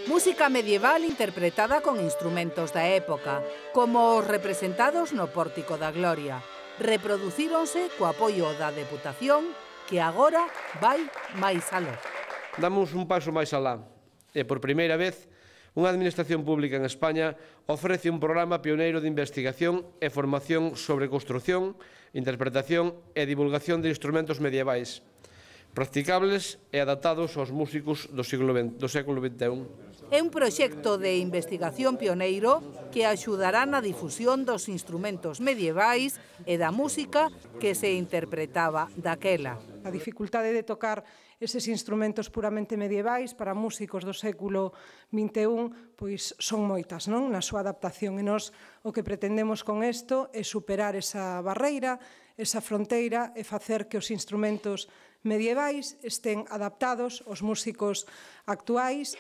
Música medieval interpretada con instrumentos da época, como os representados no Pórtico da Gloria. Reproducíronse co apoio da Deputación, que agora vai máis aló. Damos un paso máis alá, e por primeira vez, unha administración pública en España ofrece un programa pioneiro de investigación e formación sobre construción, interpretación e divulgación de instrumentos medievais, practicables e adaptados aos músicos do século XXI. É un proxecto de investigación pioneiro que axudará na difusión dos instrumentos medievais e da música que se interpretaba daquela. A dificultade de tocar eses instrumentos puramente medievais para músicos do século XXI pois son moitas, non? Na súa adaptación. E nós o que pretendemos con isto é superar esa barreira, esa fronteira e facer que os instrumentos medievais estén adaptados aos músicos actuais.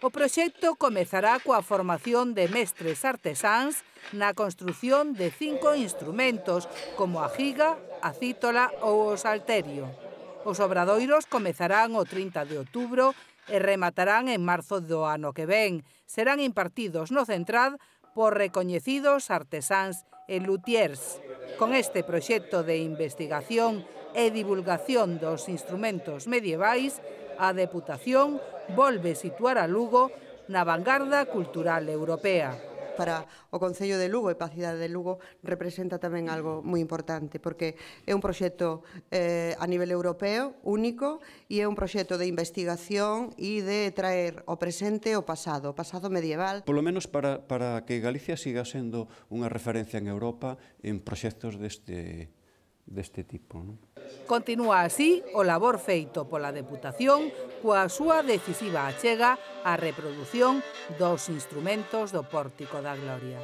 O proxecto comezará coa formación de mestres artesáns na construción de 5 instrumentos, como a giga, a cítola ou o salterio. Os obradoiros comezarán o 30 de outubro e rematarán en marzo do ano que ven. Serán impartidos no Centrad por recoñecidos artesáns e luthiers. Con este proxecto de investigación e divulgación dos instrumentos medievais, a Deputación volve situar a Lugo na vanguarda cultural europea. Para o Concello de Lugo e para a cidade de Lugo representa tamén algo moi importante, porque é un proxecto a nivel europeo único e é un proxecto de investigación e de traer ao presente o pasado medieval. Polo menos para que Galicia siga sendo unha referencia en Europa en proxectos deste tipo, non? Continúa así o labor feito pola Deputación coa súa decisiva achega á reprodución dos instrumentos do Pórtico da Gloria.